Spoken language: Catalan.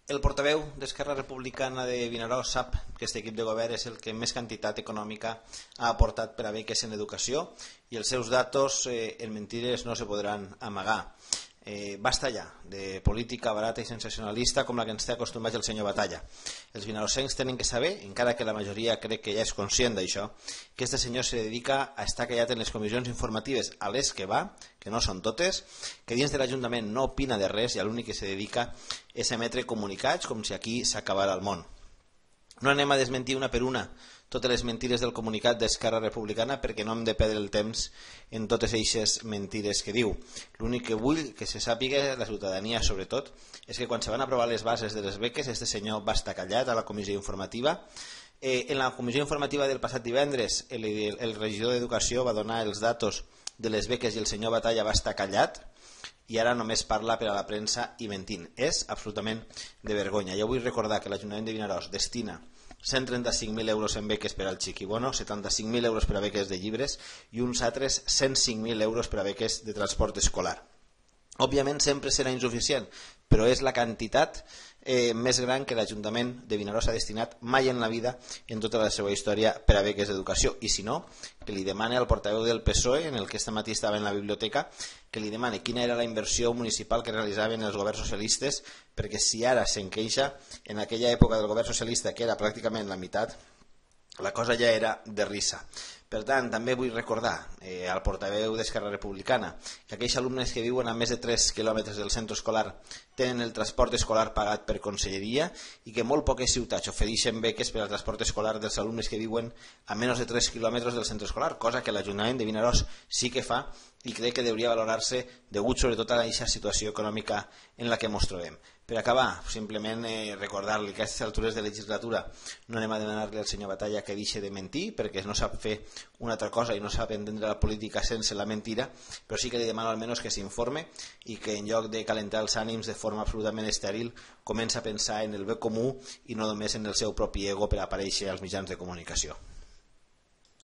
El portaveu d'Esquerra Republicana de Vinaròs sap que aquest equip de govern és el que més quantitat econòmica ha aportat per a beques en educació i els seus datos en mentides no se podran amagar. Basta ja de política barata i sensacionalista com la que ens té acostumats el senyor Batalla. Els vinarossencs tenen que saber, encara que la majoria crec que ja és conscient d'això, que este senyor se dedica a estar callat en les comissions informatives a les que va, que no són totes, que dins de l'Ajuntament no opina de res i a l'únic que se dedica és a emetre comunicats com si aquí s'acabara el món. No anem a desmentir una per una totes les mentides del comunicat d'Esquerra Republicana perquè no hem de perdre el temps en totes aquestes mentides que diu. L'únic que vull que se sàpiga, la ciutadania sobretot, és que quan se van aprovar les bases de les beques, este senyor va estar callat a la comissió informativa. En la comissió informativa del passat divendres, el regidor d'Educació va donar els datos de les beques i el senyor Batalla va estar callat i ara només parla per a la premsa i mentint. És absolutament de vergonya. Jo vull recordar que l'Ajuntament de Vinaròs destina 135.000 euros en beques per al Chiquibono, 75.000 euros per a beques de llibres i uns altres 105.000 euros per a beques de transport escolar. Òbviament sempre serà insuficient, però és la quantitat més gran que l'Ajuntament de Vinaròs ha destinat mai en la vida en tota la seva història per a beques d'educació. I si no, que li demane al portaveu del PSOE, en el que este matí estava en la biblioteca, que li demane quina era la inversió municipal que realitzaven els governs socialistes, perquè si ara se'n queixa, en aquella època del govern socialista, que era pràcticament la meitat, la cosa ja era de risa. Per tant, també vull recordar al portaveu d'Esquerra Republicana que aquells alumnes que viuen a més de 3 quilòmetres del centre escolar tenen el transport escolar pagat per conselleria i que molt poques ciutats ofereixen beques per al transport escolar dels alumnes que viuen a menys de 3 quilòmetres del centre escolar, cosa que l'Ajuntament de Vinaròs sí que fa i crec que hauria valorar-se degut sobretot a aquesta situació econòmica en la que ens trobem. Per acabar, simplement recordar-li que a aquestes altures de legislatura no anem a demanar-li al senyor Batalla que deixi de mentir perquè no sap fer una altra cosa i no sap entendre la política sense la mentira, però sí que li demano almenys que s'informe i que en lloc de calentar els ànims de forma absolutament estèril comença a pensar en el bé comú i no només en el seu propi ego per aparèixer als mitjans de comunicació.